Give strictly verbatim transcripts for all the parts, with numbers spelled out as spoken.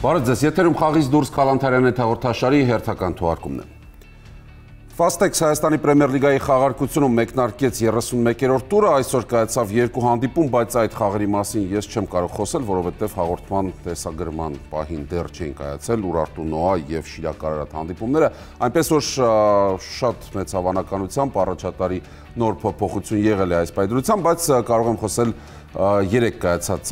Բարև ձեզ, եթերում խաղից դուրս Քալանթարյանի հաղորդաշարի հերթական թողարկումն է։ Ֆաստեքս Հայաստանի Պրեմիեր լիգայի խաղարկությունում մեկնարկեց երեսունմեկերորդ տուրը, այսօր կայացավ երկու հանդիպում, բայց այդ խաղերի մասին ես չեմ կարող խոսել, որովհետև հաղորդման տեսագրման պահին դեռ չէին կայացել Ուրարտու Նոա եւ Շիրակ Արարատ հանդիպումները, այնպես որ շատ մեծ հավանականությամբ առաջատարի նոր փոփոխություն եղել է այս պայծրությամբ, բայց կարող եմ խոսել երեք կայացած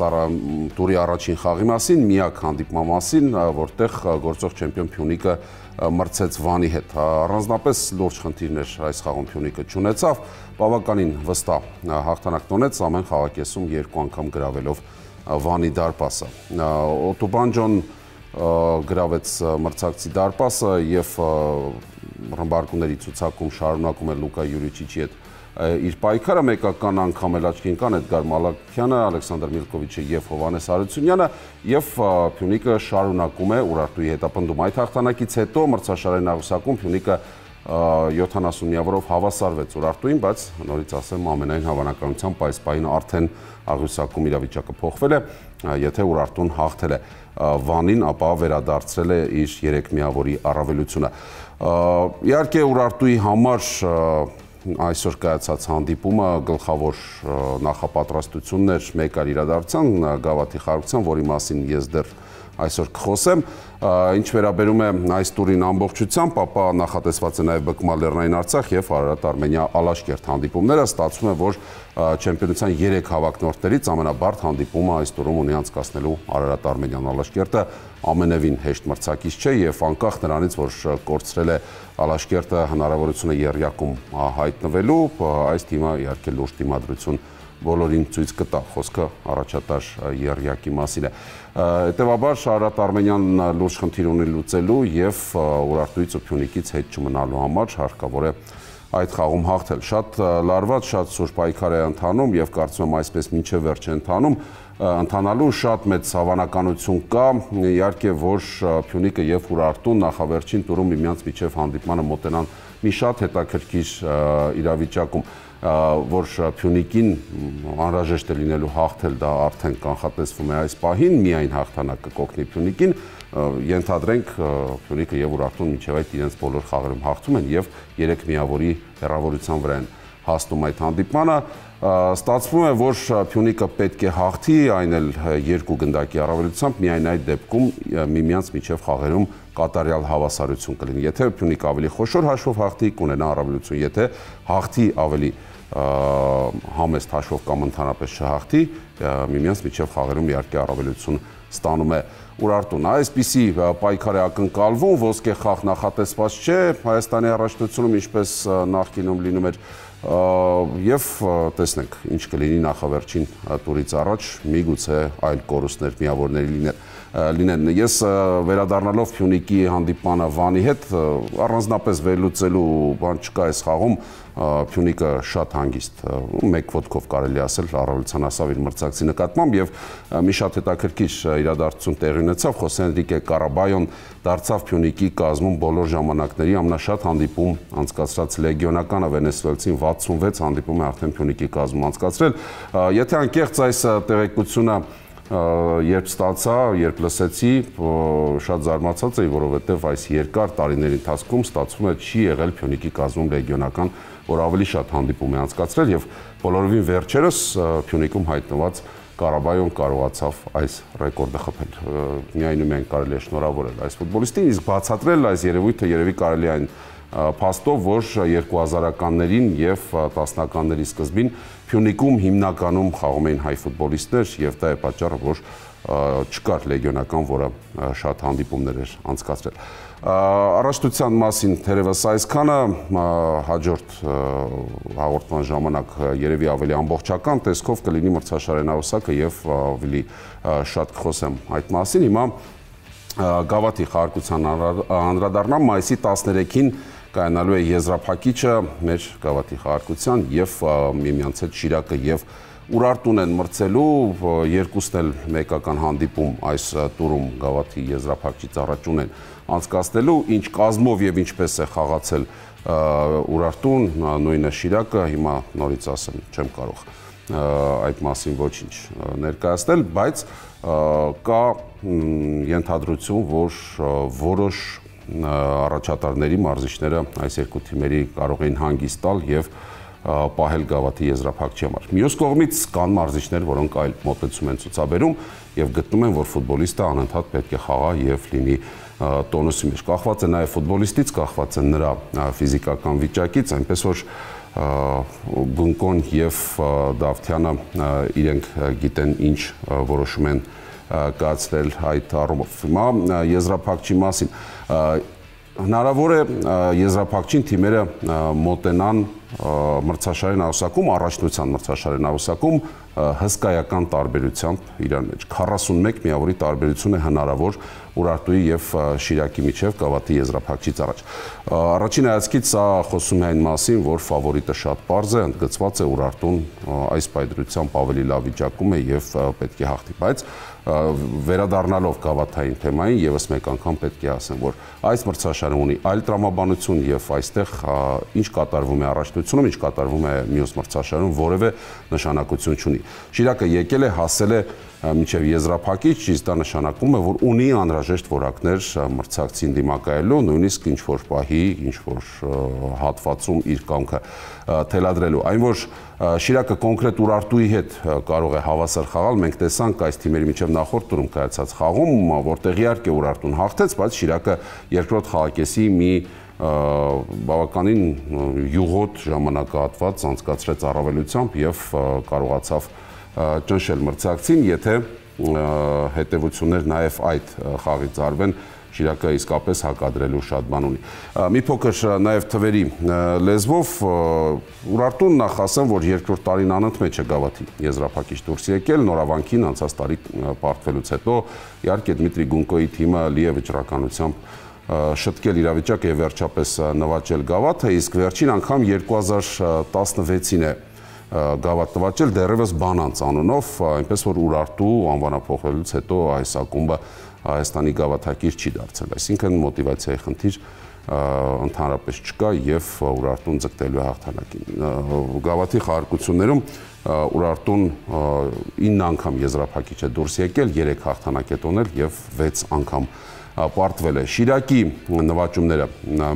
տուրի առաջին խաղի մասին, միակ հանդիպման մասին, որտեղ գործող չեմպիոն Փյունիկը մրցեց Վանի հետ։ Առանձնապես լուրջ խնդիրներ այս խաղում Փյունիկը չունեցավ, բավականին վստահ հաղթանակ տոնեց ամեն խաղակեսում երկու անգամ գրավելով Վանի դարպասը։ Օտոբանջոն գրավեց մրցակցի դարպասը եւ ռմբարկուների ցուցակում շարունակում է Լուկա Յուրիչիչի հետ իր պայքարը, մեկական անգամ էլ աչքի ընկան Էդգար Մալաքյանը, Ալեքսանդր Միլկովիչը եւ Հովհաննես Հարությունյանը եւ Փյունիկը շարունակում է Ուրարտուի հետապնդում։ Այդ հաղթանակից հետո մրցաշարային աղյուսակում Փյունիկը յոթանասուն միավորով հավասարվեց Ուրարտուին, բայց նորից ասեմ ամենայն հավանականությամբ այս պահին արդեն աղյուսակում իրավիճակը փոխվել է, եթե Ուրարտուն հաղթել է Վանին, ապա վերադարձրել է իր երեք միավորի առավելությունը։ Իհարկե Ուրարտուի համար այսօր կայացած հանդիպումը գլխավոր նախապատրաստություններ մեկ այլ իրադարձության Գավաթի խաղարկության, որի մասին ես դեռ այսօր կխոսեմ, ինչ վերաբերում է այս տուրին ամբողջությամբ, ապա նախատեսված է նաև ԲԿՄԱ Լեռնային Արցախ եւ Արարատ Արմենիա Ալաշկերտ հանդիպումները, ստացվում է, որ չեմպիոնության երեք հավակնորդներից ամենաբարդ հանդիպումը այս տուրում ունի անցկացնելու Արարատ Արմենիան Ալաշկերտը ամենևին հեշտ մրցակից չէ եւ անկախ նրանից, որ կորցրել է Ալաշկերտը հնարավորությունը եռյակում հայտնվելու, այս թիմը իհարկե լուրջ դիմադրություն բոլորին ցույց կտա, խոսքը առաջատար եռյակի մասին է։ Հետևաբար Արարատ Արմենիան լուրջ խնդիր ունի լուծելու եւ Ուրարտուից ու Փյունիկից հետ չմնալու համար հարկավոր է այդ խաղում հաղթել։ Շատ լարված, շատ սուր պայքար է ընթանում եւ կարծում եմ այսպես մինչեւ վերջ է ընթանում, ընթանալու շատ մեծ հավանականություն կա, իհարկե որ Փյունիկը եւ Ուրարտուն նախավերջին տուրում միմյանց միջև հանդիպմանը մոտենան մի շատ հետաքրքիր իրավիճակում, որ Փյունիկին անհրաժեշտ է լինելու հաղթել, դա արդեն կանխատեսվում է այս պահին, միայն հաղթանակը կօգնի Փյունիկին, ենթադրենք Փյունիկը եւ Ուրարտուն մինչեւ այդ իրենց բոլոր խաղերում հաղթում են եւ երեք միավորի հեռավորության վրա են հասնում այդ հանդիպմանը։ Ստացվում է, որ Փյունիկը պետք է հաղթի, այն էլ երկու գնդակի առավելությամբ, միայն այդ դեպքում միմյանց միջև խաղերում կատարյալ հավասարություն կլինի։ Եթե Փյունիկը ավելի խոշոր հաշվով հաղթի, կունենա առավելություն, եթե հաղթի ավելի համեստ հաշվով կամ ընդհանրապես չհաղթի, միմյանց միջև խաղերում իհարկե առավելություն ստանում է Ուրարտուն։ Այսպիսի պայքար է ակնկալվում, ոսկե խաղ նախատեսված չէ Հայաստանի առաջնությունում, ինչպես նախկինում լինում էր, եւ տեսնենք ինչ կլինի նախավերջին տուրից առաջ, միգուցե այլ կորուստներ միավորների լինեն։ Ես վերադառնալով Փյունիկի հանդիպմանը Վանի հետ, առանձնապես վերլուծելու բան չկա այս խաղում, Փյունիկը շատ հանգիստ, մեկ ոտքով կարելի ասել առավելության հասավ իր մրցակցի նկատմամբ եւ մի շատ հետաքրքիր իրադարձություն տեղի ունեցավ, Խոսե Էնրիկե Կարաբայոն դարձավ Փյունիկի կազմում բոլոր ժամանակների ամենաշատ հանդիպում անցկացրած լեգիոնականը, վենեսուելցին վաթսունվեց հանդիպում է արդեն Փյունիկի կազմում անցկացրել։ Եթե անկեղծ այս տեղեկությունը երբ ստացա, երբ լսեցի, շատ զարմացած էի, որովհետև այս երկար տարիների ընթացքում ստացվում է չի եղել Փյունիկի կազմում լեգիոնական, որ ավելի շատ հանդիպում է անցկացրել եւ բոլորովին վերջերս Փյունիկում հայտնված Կարաբայոն կարողացավ այս ռեկորդը խփել։ Միայն ու միայն կարելի է շնորհավորել այս ֆուտբոլիստին, իսկ բացատրել այս երևույթը երևի կարելի այն փաստով, որ երկու հազարականներին եւ տասնականների սկզբին Փյունիկում հիմնականում խաղում էին հայ ֆուտբոլիստներ եւ դա է պատճառը, որ չկար լեգիոնական, որը շատ հանդիպումներ էր անցկացրել։ Առաջնության մասին թերևս այսքանը, հաջորդ հաղորդման ժամանակ երևի ավելի ամբողջական տեսքով կլինի մրցաշարային աղյուսակը եւ ավելի շատ կխոսեմ այդ մասին։ Հիմա Գավաթի խաղարկության անդրադառնամ, մայիսի տասներեքին կայանալու է եզրափակիչը մեր Գավաթի խաղարկության եւ միմյանց հետ Շիրակը եւ Ուրարտուն են մրցելու, երկուսն էլ մեկական հանդիպում այս տուրում Գավաթի եզրափակիչից առաջ ունեն անցկացնելու, ինչ կազմով եւ ինչպես է խաղացել Ուրարտուն, նույնը Շիրակը, հիմա նորից ասեմ, չեմ կարող այդ մասին ոչինչ ներկայացնել, բայց կա ենթադրություն, որ որոշ առաջատարների մարզիչները այս երկու թիմերի կարող էին հանգիստ տալ եւ պահել գավաթի եզրափակչի համար։ Մյուս կողմից կան մարզիչներ, որոնք այլ մոտեցում են ցուցաբերում եւ գտնում են, որ ֆուտբոլիստը անընդհատ պետք է խաղա եւ լինի տոնուսի մեջ։ Կախված է նաեւ ֆուտբոլիստից, կախված է նրա ֆիզիկական վիճակից, այնպես որ Գունկոն եւ Դավթյանը իրենք գիտեն ինչ որոշում են կայացրել այդ առումով։ Հիմա եզրափակչի մասին հնարավոր է եզրափակչին թիմերը մոտենան մրցաշարի նավուսակում, առաջնության մրցաշարի նավուսակում հսկայական տարբերությամբ իրար մեջ։ քառասունմեկ միավորի տարբերություն է հնարավոր Ուրարտուի եւ Շիրակի միջև գավաթի եզրափակչից առաջ։ Առաջին հայացքից սա խոսում է այն մասին, որ ֆավորիտը շատ պարզ է, ընդգծված է Ուրարտուն այս պայծրությամբ ավելի լավ վիճակում է եւ պետք է հաղթի, բայց վերադառնալով գավաթային թեմային եւս մեկ անգամ պետք է ասեմ, որ այս մրցաշարը ունի այլ տրամաբանություն եւ այստեղ ինչ կատարվում է առաջնությունում, ինչ կատարվում է մյուս մրցաշարում, որևէ նշանակություն չունի։ Շիրակը եկել է, հասել է մինչև եզրափակիչ, իսկ դա նշանակում է, որ ունի անհրաժեշտ որակներ մրցակցին դիմակայելու, նույնիսկ ինչ որ պահի, ինչ որ հատվածում իր կամքը թելադրելու։ Այն որ Շիրակը կոնկրետ Ուրարտուի հետ կարող է հավասար խաղալ, մենք տեսանք այս թիմերի միջև նախորդ տուրում կայացած խաղում, որտեղ իհարկե Ուրարտուն հաղթեց, բայց Շիրակը երկրորդ խաղակեսի մի բավականին յուղոտ ժամանակահատված անցկացրեց առավելությամբ եւ կարողացավ ճնշել մրցակցին, եթե հետևություններ նաև այդ խաղից արվեն, Շիրակը իսկապես հակադրելու շատ բան ունի։ Մի փոքր նաև թվերի լեզվով Ուրարտուն նախ ասեմ, որ երկրորդ տարին անընդմեջ է գավաթի եզրափակիչ դուրս եկել, նորավանքին անցած տարի պարտվելուց հետո իհարկե Դմիտրի Գունկոյի թիմը լի է վճռականությամբ շտկել իրավիճակը եւ վերջապես նվաճել գավաթը, իսկ վերջին անգամ երկու հազար տասնվեցին է գավաթ նվաճել դեռևս Բանանց անունով, այնպես որ Ուրարտու անվանափոխվելուց հետո այս ակումբը Հայաստանի գավաթակիր չի դարձել, այսինքն մոտիվացիայի խնդիր ընդհանրապես չկա եւ Ուրարտուն ձգտելու է հաղթանակին։ Գավաթի խաղարկություններում Ուրարտուն ինը անգամ եզրափակիչ է դուրս եկել, երեք հաղթանակ է տոնել եւ վեց անգամ պարտվել է։ Շիրակի նվաճումները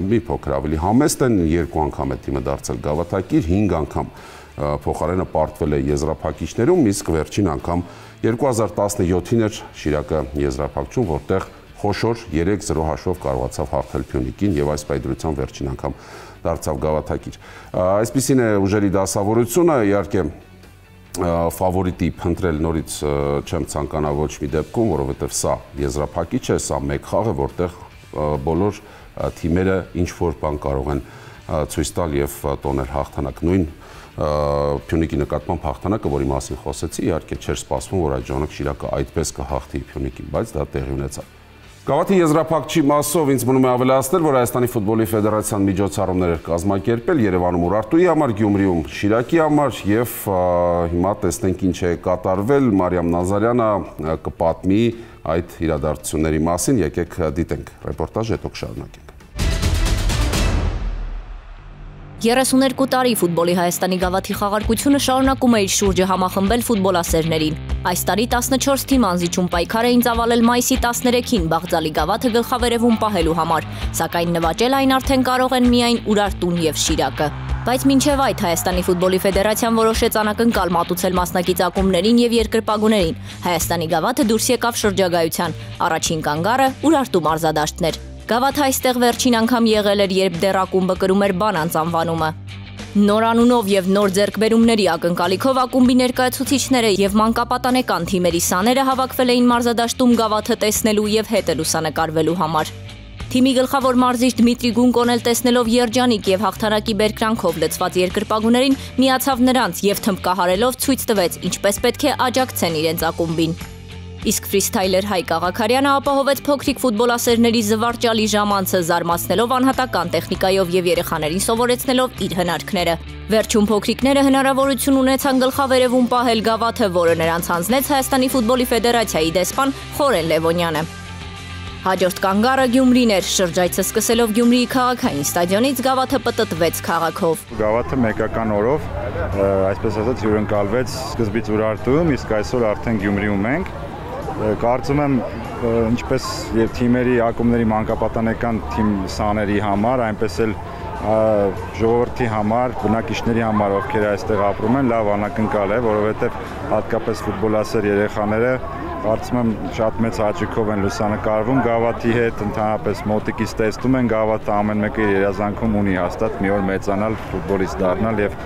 մի փոքր ավելի համեստ են, երկու անգամ է թիմը դարձել գավաթակիր, հինգ անգամ փոխարենը պարտվել է եզրափակիչներում, իսկ վերջին անգամ երկու հազար տասնյոթին էր Շիրակը եզրափակչում, որտեղ խոշոր երեք զրո հաշվով կարողացավ հաղթել Փյունիկին եւ այս պայծրությամբ վերջին անգամ դարձավ գավաթակիր։ Այսպիսին է ուժերի դասավորությունը, իհարկե ֆավորիտի փնտրել նորից չեմ ցանկանա ոչ մի դեպքում, որովհետեւ սա եզրափակիչ է, սա մեկ խաղ է, որտեղ բոլոր թիմերը ինչ որ բան կարող են ցույց տալ եւ տոնել հաղթանակ։ Նույն Փյունիկի նկատմամբ հաղթանակը, որի մասին խոսեցի, իհարկե չէր սպասվում, որ այդ ժամանակ Շիրակը այդպես կհաղթի Փյունիկին, բայց դա տեղի ունեցավ։ Գավաթի եզրափակչի մասով ինձ մնում է ավելացնել, որ Հայաստանի ֆուտբոլի ֆեդերացիան միջոցառումներ էր կազմակերպել Երևանում Ուրարտուի համար, Գյումրիում Շիրակի համար եւ հիմա տեսնենք ինչ է կատարվել։ Մարիամ Նազարյանը կպատմի այդ իրադարձությունների մասին, եկեք դիտենք ռեպորտաժը, հետո կշարունակենք։ երեսուներկու տարի ֆուտբոլի Հայաստանի գավաթի խաղարկությունը շարունակում է իր շուրջը համախմբել ֆուտբոլասերներին։ Այս տարի տասնչորս թիմ անզիջում պայքար էին ծավալել մայիսի տասներեքին Բաղձալի գավաթը գլխավերևում պահելու համար, սակայն նվաճել այն արդեն կարող են միայն Ուրարտուն եւ Շիրակը։ Բայց մինչև այդ Հայաստանի ֆուտբոլի ֆեդերացիան որոշեց անակնկալ մատուցել մասնակից ակումբներին եւ երկրպագուներին։ Հայաստանի գավաթը դուրս եկավ շրջագայության։ Առաջին կանգառը Ուրարտու մարզադաշտն էր։ Գավաթը այստեղ վերջին անգամ եղել էր, երբ դեռ ակումբը կրում էր Բանանց անվանումը։ Նոր անունով եւ նոր ձեռքբերումների ակնկալիքով ակումբի ներկայացուցիչները եւ մանկապատանեկան թիմերի սաները հավաքվել էին մարզադաշտում գավաթը տեսնելու եւ հետ լուսանկարվելու համար։ Թիմի գլխավոր մարզիչ Դմիտրի Գունկոն էլ տեսնելով երջանիկ եւ հաղթանակի բերկրանքով լցված երկրպագուներին միացավ նրանց եւ թմբկահարելով ցույց տվեց, ինչպես պետք է աջակցեն իրենց ակումբին։ Իսկ ֆրիստայլեր Հայկ Աղաքարյանը ապահովեց փոքրիկ ֆուտբոլասերների զվարճալի ժամանցը, զարմացնելով անհատական տեխնիկայով եւ երեխաներին սովորեցնելով իր հնարքները։ Վերջում փոքրիկները հնարավորություն ունեցան գլխավերևում պահել գավաթը, որը նրանց հանձնեց Հայաստանի ֆուտբոլի ֆեդերացիայի դեսպան Խորեն Լևոնյանը։ Հաջորդ կանգառը Գյումրին էր, շրջայցը սկսելով Գյումրիի քաղաքային ստադիոնից Գավաթը պտտվեց քաղաքով։ Գավաթը մեկական օրով, այսպես ասած, հյուրընկալվեց սկզբից Ուրարտուում, իսկ այսօր արդեն Գյումրիում ենք։ Կարծում եմ, ինչպես եւ թիմերի, ակումբների մանկապատանեկան թիմ սաների համար, այնպես էլ ժողովրդի համար, բնակիչների համար, ովքեր այստեղ ապրում են, լավ անակնկալ է, որովհետեւ հատկապես ֆուտբոլասեր երեխաները կարծում եմ շատ մեծ հաճույքով են լուսանկարվում Գավաթի հետ, ընդհանրապես մոտիկից տեսնում են Գավաթը ամեն մեկը իր երազանքում ունի հաստատ մի օր մեծանալ, ֆուտբոլիստ դառնալ եւ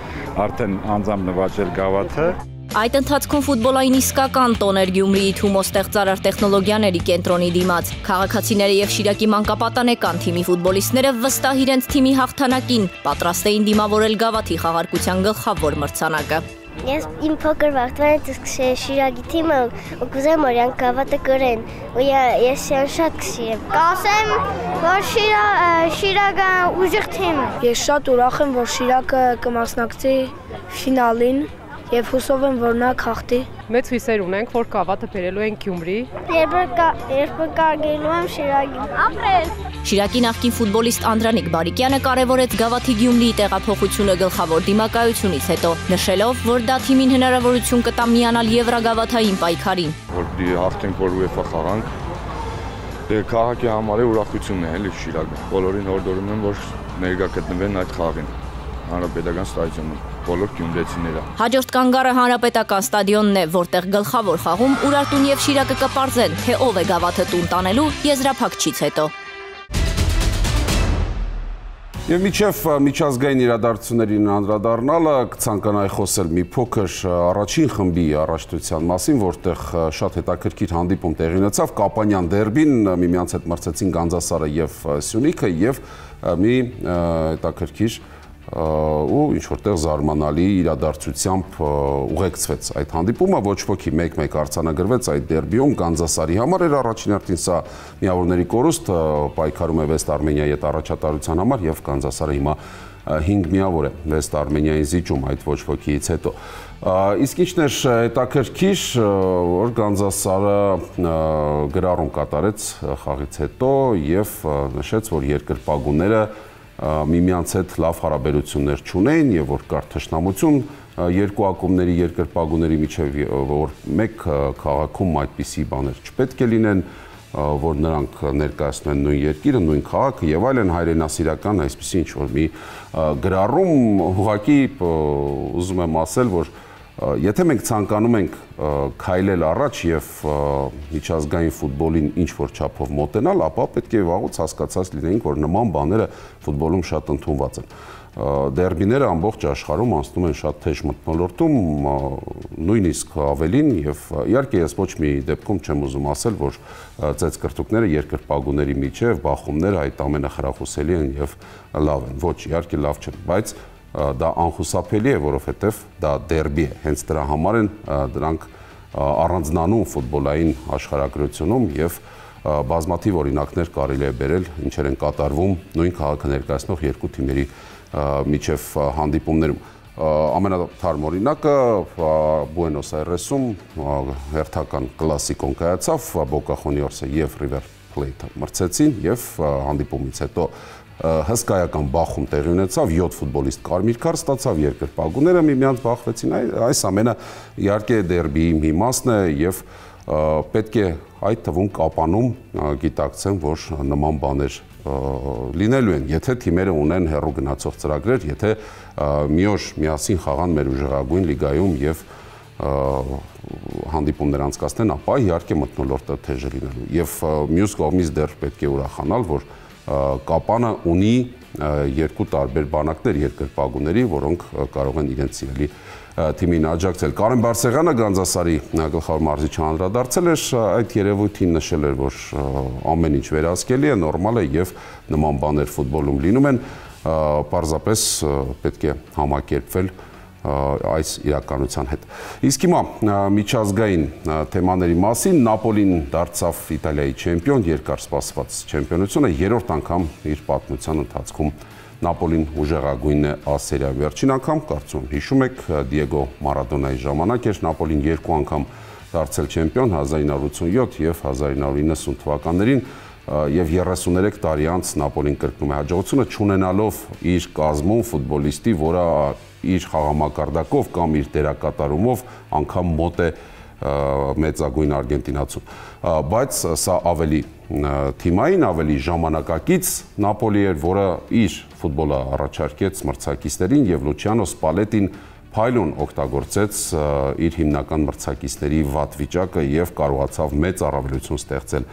արդեն անձամբ նվաճել Գավաթը։ Այդ ընթացքում ֆուտբոլային իսկական տոն էր Գյումրիի Թումո ստեղծարար տեխնոլոգիաների կենտրոնի դիմաց։ Քաղաքացիները եւ Շիրակի մանկապատանեկան թիմի ֆուտբոլիստները վստահ իրենց թիմի հաղթանակին պատրաստ էին դիմավորել Գավաթի խաղարկության գլխավոր մրցանակը։ Ես իմ փոքր վաղտվանից սկսել Շիրակի թիմը ու կուզեմ որ յան Գավաթը կրեն ու ես յան շատ կսիրեմ։ Կասեմ, որ Շիրակը ուժեղ թիմ է։ Ես շատ ուրախ եմ, որ Շիրակը կմասնակցի ֆինալին եւ հուսով եմ, որ նա կհաղթի։ Մեծ հույսեր ունենք, որ Գավաթը բերելու են Գյումրի։ Երբ կարգելու եմ Շիրակին։ Ապրել։ Շիրակի նախկին ֆուտբոլիստ Անդրանիկ Բարիկյանը կարևորեց Գավաթի Գյումրիի տեղափոխությունը գլխավոր դիմակայությունից հետո, նշելով, որ դա թիմին հնարավորություն կտա միանալ Եվրագավաթային պայքարին։ Որ հաղթենք, որ ՈՒԵՖԱ խաղանք, դե քաղաքի համար է ուրախությունն է, էլի Շիրակը։ Բոլորին հորդորում եմ, որ ներկա գտնվեն այդ խաղին։ Հանրապետական ստադիոնում բոլոր գյումրեցիները։ Հաջորդ կանգառը Հանրապետական ստադիոնն է, որտեղ գլխավոր խաղում Ուրարտուն եւ Շիրակը կպարզեն, թե ով է Գավաթը տուն տանելու եզրափակչից հետո։ Եվ միջև միջազգային իրադարձություններին անդրադառնալը կցանկանայի խոսել մի փոքր առաջին խմբի առաջնության մասին, որտեղ շատ հետաքրքիր հանդիպում տեղի ունեցավ, Կապանյան դերբին միմյանց հետ մրցեցին Գանձասարը եւ Սյունիքը եւ մի հետաքրքիր ու ինչ-որտեղ զարմանալի իրադարձությամբ ուղեկցվեց այդ հանդիպումը, ոչ ոքի մեկ-մեկ արձանագրվեց այդ դերբիում Գանձասարի համար էր առաջին հերթին սա միավորների կորուստ պայքարում է Վեստ Արմենիայի հետ առաջատարության համար եւ Գանձասարը հիմա հինգ միավոր է Վեստ Արմենիային զիջում այդ ոչ ոքից հետո։ Իսկ ինչն էր հետաքրքիր, որ Գանձասարը գրառում կատարեց խաղից հետո եւ նշեց, որ երկրպագուները միմյանց հետ լավ հարաբերություններ չունեն եւ որ կար թշնամություն երկու ակումբների երկրպագուների միջեւ որ մեկ քաղաքում այդպիսի բաներ չպետք է լինեն, որ նրանք ներկայացնում են նույն երկիրը, նույն քաղաքը եւ այլն հայրենասիրական այսպիսի ինչ որ մի գրառում ուղղակի ուզում եմ ասել, որ եթե մենք ցանկանում ենք քայլել առաջ եւ միջազգային ֆուտբոլին ինչ որ չափով մոտենալ, ապա պետք է վաղուց հասկացած լինենք, որ նման բաները ֆուտբոլում շատ ընդունված են։ Դերբիները ամբողջ աշխարհում անցնում են շատ թեժ մթնոլորտում, նույնիսկ ավելին եւ իհարկե ես ոչ մի դեպքում չեմ ուզում ասել, որ ծեծկրտուկները երկրպագուների միջև բախումները այդ ամենը խրախուսելի են եւ լավ են։ Ոչ, իհարկե լավ չեն, բայց դա անխուսափելի է, որովհետև դա դերբի է, հենց դրա համար են դրանք առանձնանում ֆուտբոլային աշխարհագրությունում եւ բազմաթիվ օրինակներ կարելի է բերել, ինչեր են կատարվում նույն քաղաքը ներկայացնող երկու թիմերի միջև հանդիպումներում։ Ամենաթարմ օրինակը Բուենոս Այրեսում հերթական կլասիկոն կայացավ, Boca Juniors-ը եւ River Plate-ը մրցեցին եւ հանդիպումից հետո հսկայական բախում տեղի ունեցավ, յոթ ֆուտբոլիստ կարմիր քարտ ստացավ, երկրպագուները միմյանց բախվեցին, այս ամենը իհարկե դերբիի մի մասն է եւ պետք է այդ թվում Կապանում գիտակցեն, որ նման բաներ լինելու են, եթե թիմերը ունեն հեռու գնացող ծրագրեր, եթե մի օր միասին խաղան մեր ուժեղագույն լիգայում եւ հանդիպումներ անցկացնեն, ապա իհարկե մթնոլորտը թեժ է լինելու եւ մյուս կողմից դեռ պետք է ուրախանալ, որ Կապանը ունի երկու տարբեր բանակներ երկրպագուների, որոնք կարող են իրենց սիրելի թիմին աջակցել։ Կարեն Բարսեղյանը Գանձասարի գլխավոր մարզիչը անդրադարձել էր այդ երևույթին, նշել էր, որ ամեն ինչ վերահսկելի է, նորմալ է եւ նման բաներ ֆուտբոլում լինում են, պարզապես պետք է համակերպվել այս իրականության հետ։ Իսկ հիմա միջազգային թեմաների մասին Նապոլին դարձավ Իտալիայի չեմպիոն, երկար սպասված չեմպիոնությունը, երրորդ անգամ իր պատմության ընթացքում Նապոլին ուժեղագույնն է ասերիայում։ Վերջին անգամ, կարծում հիշում եք, Դիեգո Մարադոնայի ժամանակ էր Նապոլին երկու անգամ դարձել չեմպիոն հազար ինը հարյուր ութսունյոթ եւ հազար ինը հարյուր իննսուն թվականներին։ եւ երեսուներեք տարի անց Նապոլին կրկնում է հաջողությունը, չունենալով իր կազմում ֆուտբոլիստի, որը իր խաղամակարդակով կամ իր դերակատարումով անգամ մոտ է մեծագույն արգենտինացուն, բայց սա ավելի թիմային, ավելի ժամանակակից Նապոլի էր, որը իր ֆուտբոլը առաջարկեց մրցակիցներին եւ Լուչիանո Սպալետին փայլուն օգտագործեց իր հիմնական մրցակիցների վատ վիճակը եւ կարողացավ մեծ առավելություն ստեղծել,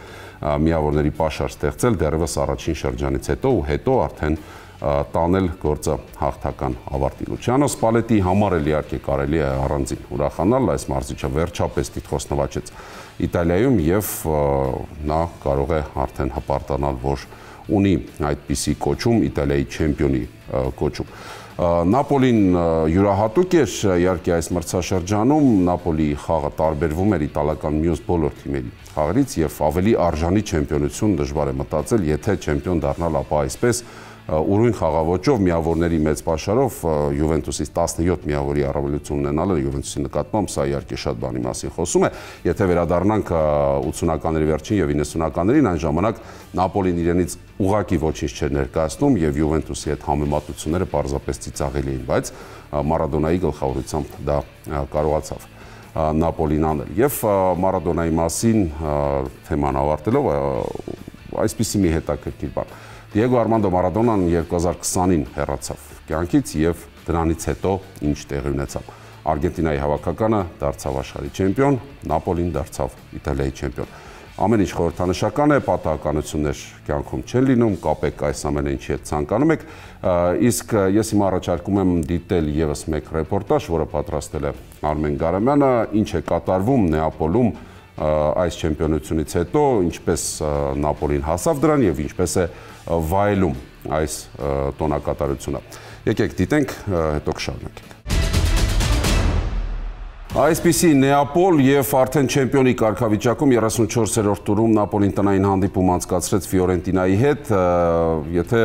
միավորների պաշար ստեղծել դեռևս առաջին շրջանից հետո ու հետո արդեն տանել գործը հաղթական ավարտի։ Լուչիանո Սպալետի համար էլ իհարկե կարելի է առանձին ուրախանալ, այս մարզիչը վերջապես տիտղոս նվաճեց Իտալիայում եւ նա կարող է արդեն հպարտանալ, որ ունի այդպիսի կոչում, Իտալիայի չեմպիոնի կոչում։ Նապոլին յուրահատուկ էր իհարկե այս մրցաշրջանում, Նապոլի խաղը տարբերվում էր իտալական մյուս բոլոր թիմերի խաղերից եւ ավելի արժանի չեմպիոնություն դժվար է մտածել, եթե չեմպիոն դառնալ, ապա այսպես ուրույն խաղաոճով, միավորների մեծ պաշարով Յուվենտուսից տասնյոթ միավորի առավելություն ունենալը Յուվենտուսի նկատմամբ սա իհարկե շատ բանի մասին խոսում է, եթե վերադառնանք ութսունականների վերջին եւ իննսունականներին, այն ժամանակ Նապոլին իրենից ուղղակի ոչինչ չէր ներկայացնում եւ Յուվենտուսի հետ համեմատությունները պարզապես ծիծաղելի էին, բայց Մարադոնայի գլխավորությամբ դա կարողացավ Նապոլին անել։ Եվ Մարադոնայի մասին թեման ավարտելով այսպիսի մի հետաքրքիր բան։ Դիեգո Արմանդո Մարադոնան երկու հազար քսանին հեռացավ կյանքից եւ դրանից հետո ինչ տեղի ունեցավ։ Արգենտինայի հավաքականը դարձավ աշխարհի չեմպիոն, Նապոլին դարձավ Իտալիայի չեմպիոն։ Ամեն ինչ խորհրդանշական է, պատահականություններ կյանքում չեն լինում, կապեք այս ամենը ինչի հետ ցանկանում եք, իսկ ես հիմա առաջարկում եմ դիտել եւս մեկ ռեպորտաժ, որը պատրաստել է Արմեն Գարամյանը, ինչ է կատարվում Նեապոլում այս չեմպիոնությունից հետո, ինչպես Նապոլին հասավ դրան եւ ինչպես է վայելում այս տոնակատարությունը։ Եկեք դիտենք, հետո կշարունակենք։ Այսպիսի Նեապոլ եւ արդեն չեմպիոնի կարգավիճակում երեսունչորսերորդ տուրում Նապոլին տնային հանդիպում անցկացրեց Ֆիորենտինայի հետ, եթե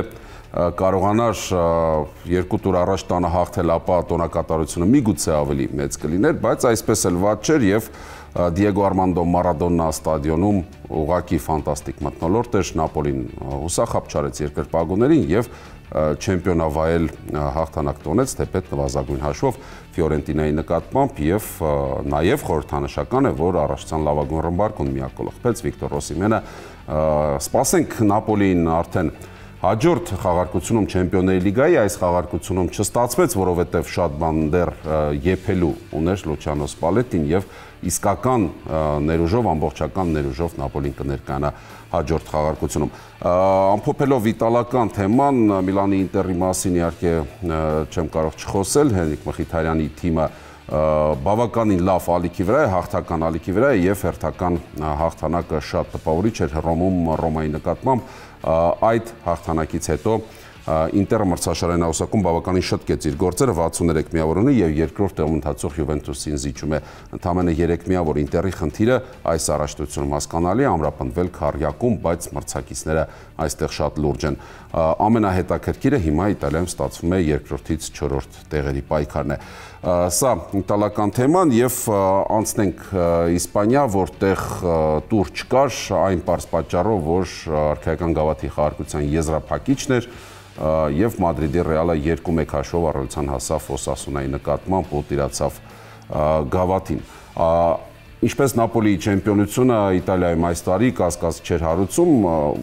կարողանար երկու տուր առաջ տանը հաղթել, ապա տոնակատարությունը միգուցե ավելի մեծ կլիներ, բայց այսպես էլ վատ չէր եւ Դիեգո Արմանդո Մարադոնա ստադիոնում ուղղակի ֆանտաստիկ մթնոլորտ էր, Նապոլին հուսախաբ չարեց երկրպագուներին եւ չեմպիոնավայել հաղթանակ տոնեց թեպետ նվազագույն հաշվով Ֆիորենտինայի նկատմամբ եւ նաեւ խորհրդանշական է, որ առաջացան լավագույն ռմբարկուն միակոլող պես Վիկտոր Օսիմենը, սպասենք Նապոլիին արդեն հաջորդ խաղարկությունում Չեմպիոնների լիգայի, այս խաղարկությունում չստացվեց, որովհետև շատ բան դեռ եփելու ուներ Լուչիանո Սպալետին եւ իսկական ներուժով, ամբողջական ներուժով Նապոլին կներկայանա հաջորդ խաղարկությունում։ Ամփոփելով իտալական թեման, Միլանի Ինտերի մասին իհարկե չեմ կարող չխոսել, Հենրիկ Մխիթարյանի թիմը բավականին լավ ալիքի վրա է, հաղթական ալիքի վրա է եւ հերթական հաղթանակը շատ տպավորիչ էր Հռոմում Ռոմայի նկատմամբ, այդ հաղթանակից հետո Ինտերը մրցաշարային աղյուսակում բավականին շտկեց իր գործերը, վաթսուններեք միավոր ունի եւ երկրորդ տեղում ընթացող Յուվենտուսին զիջում է ընդամենը երեք միավոր։ Ինտերի խնդիրը այս առաջնությունում հասկանալի է, ամրապնդվել քառյակում, բայց մրցակիցները այստեղ շատ լուրջ են։ Ամենահետաքրքիրը հիմա Իտալիայում ստացվում է երկրորդից չորրորդ տեղերի պայքարն է։ Սա իտալական թեման եւ անցնենք Իսպանիա, որտեղ տուր չկար, այն պարզ պատճառով, որ արքայական գավաթի խաղարկության եզրափակիչն էր եւ Մադրիդի Ռեալը երկու մեկ հաշվով առավելության հասավ Օսասունայի նկատմամբ ու տիրացավ գավաթին։ Ինչպես Նապոլիի չեմպիոնությունը Իտալիայում այս տարի կասկած չէր հարուցում,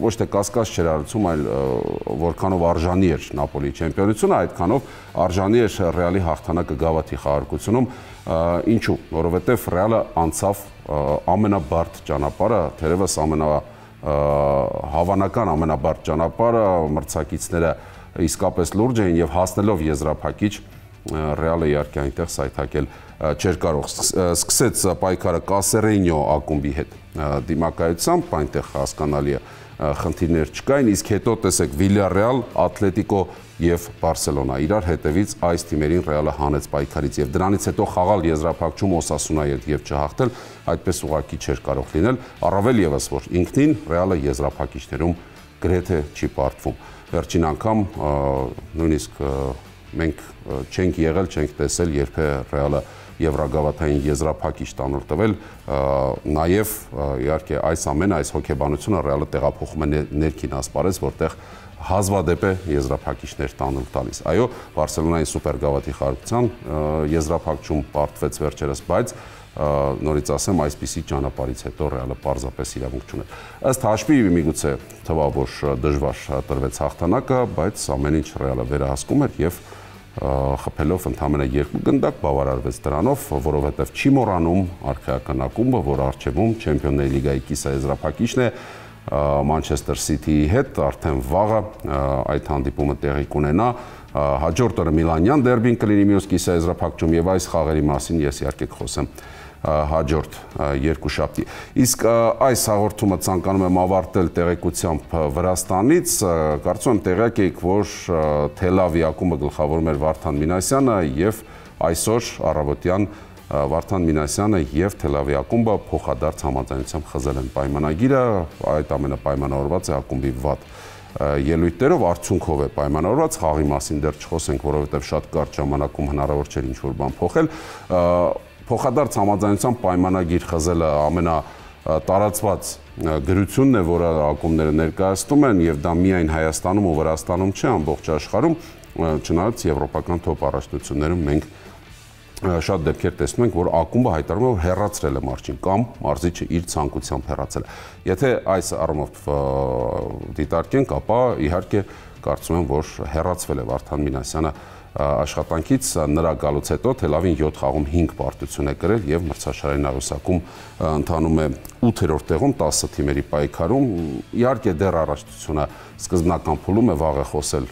ոչ թե կասկած չէր հարուցում, այլ որքանով արժանի էր Նապոլիի չեմպիոնությունը, այդքանով արժանի էր Ռեալի հաղթանակը գավաթի խաղարկությունում, ինչու, որովհետև Ռեալը անցավ ամենաբարդ ճանապարհը, թերևս ամենա հավանական ամենաբարդ ճանապարհը, մրցակիցները իսկապես լուրջ էին եւ հասնելով եզրափակիչ Ռեալը իհարկե այնտեղ սայթակել չէր կարող, սկսեց պայքարը Կասերենյո ակումբի հետ դիմակայությամբ, այնտեղ հասկանալի է խնդիրներ չկային, իսկ հետո տեսեք Վիլյարեալ, Ատլետիկո եւ Բարսելոնա իրար հետևից այս թիմերին Ռեալը հանեց պայքարից եւ դրանից հետո խաղալ եզրափակչում Օսասունայի հետ եւ չհաղթել, այդպես ուղղակի չէր կարող լինել, առավել եւս որ ինքնին Ռեալը եզրափակիչներում գրեթե չի պարտվում։ Վերջին անգամ նույնիսկ մենք չենք եղել, չենք տեսել, երբ է Ռեալը եվրագավաթային եզրափակիչ տանուլ տվել, նաև իհարկե այս ամենը, այս հոգեբանությունը Ռեալը տեղափոխում է ներքին ասպարեզ, որտեղ հազվադեպ է եզրափակիչներ տանուլ տալիս։ Այո, Բարսելոնայի սուպերգավաթի խաղարկության եզրափակում պարտվեց վերջերս, բայց նորից ասեմ, այսպիսի ճանապարհից հետո Ռեալը պարզապես իրավունք չուներ։ Ըստ հաշվի միգուցե թվա, որ դժվար տրվեց հաղթանակը, բայց ամեն ինչ Ռեալը վերահսկում էր եւ խփելով ընդամենը երկու գնդակ բավարարվեց դրանով, որովհետեւ չի մոռանում արխայական ակումբը, որ առջևում Չեմպիոնների լիգայի կիսաեզրափակիչն է Մանչեսթեր Սիթիի հետ, արդեն վաղը այդ հանդիպումը տեղի կունենա, հաջորդ օրը Միլանյան դերբին կլինի մյուս կիսաեզրափակում եւ այս խաղերի մասին ես իհարկե կխոսեմ հաջորդ երկուշաբթի։ Իսկ այս հաղորդումը ցանկանում եմ ավարտել տեղեկությամբ Վրաստանից, կարծում եմ տեղյակ եք, որ Թել Ավիվ ակումբը գլխավորում էր Վարդան Մինասյանը եւ այսօր առավոտյան Վարդան Մինասյանը եւ Թել Ավիվ ակումբը փոխադարձ համաձայնությամբ խզել են պայմանագիրը, այդ ամենը պայմանավորված է ակումբի վատ ելույթներով, արդյունքով է պայմանավորված, խաղի մասին դեռ չխոսենք, որովհետեւ շատ կարճ ժամանակում հնարավոր չէր ինչ-որ բան փոխել։ Փոխադարձ համաձայնությամբ պայմանագիր խզելը ամենատարածված գրությունն է, որը ակումբները ներկայացնում են, եւ դա միայն Հայաստանում ու Վրաստանում չէ, ամբողջ աշխարհում, չնայած եվրոպական թոփ առաջնություններում մենք շատ դեպքեր տեսնում ենք, որ ակումբը հայտարարում է, որ հեռացրել է մարզչին կամ մարզիչը իր ցանկությամբ հեռացել է։ Եթե այս առումով դիտարկենք, ապա իհարկե կարծում եմ, որ հեռացվել է Վարդան Մինասյանը աշխատանքից, նրա գալուց հետո Թել Ավիվին յոթ խաղում հինգ պարտություն է կրել եւ մրցաշարային աղյուսակում ընթանում է ութերորդ տեղում տասը թիմերի պայքարում։ Իհարկե դեռ առաջնությունը սկզբնական փուլում է, վաղ է խոսել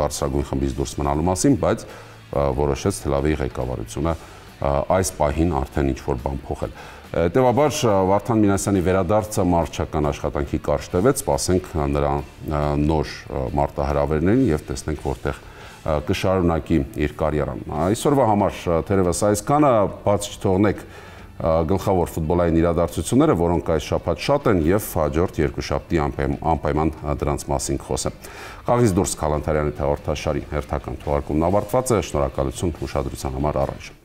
բարձրագույն խմբից դուրս մնալու մասին, բայց որոշեց Թել Ավիվի ղեկավարությունը այս պահին արդեն ինչ-որ բան փոխել։ Հետևաբար Վարդան Մինասյանի վերադարձը մարզչական աշխատանքի կարճ տևեց, սպասենք նրա նոր մարտահրավերներին եւ տեսնենք որտեղ կշարունակի իր կարիերան։ Այսօրվա համար թերևս այսքանը, բաց չթողնեք գլխավոր ֆուտբոլային իրադարձությունները, որոնք այս շաբաթ շատ են եւ հաջորդ երկուշաբթի անպայման դրանց մասին կխոսեմ։ Խաղից դուրս Քալանթարյանի հաղորդաշարի հերթական թողարկումն ավարտված է, շնորհակալություն ուշադրության համար առայժմ։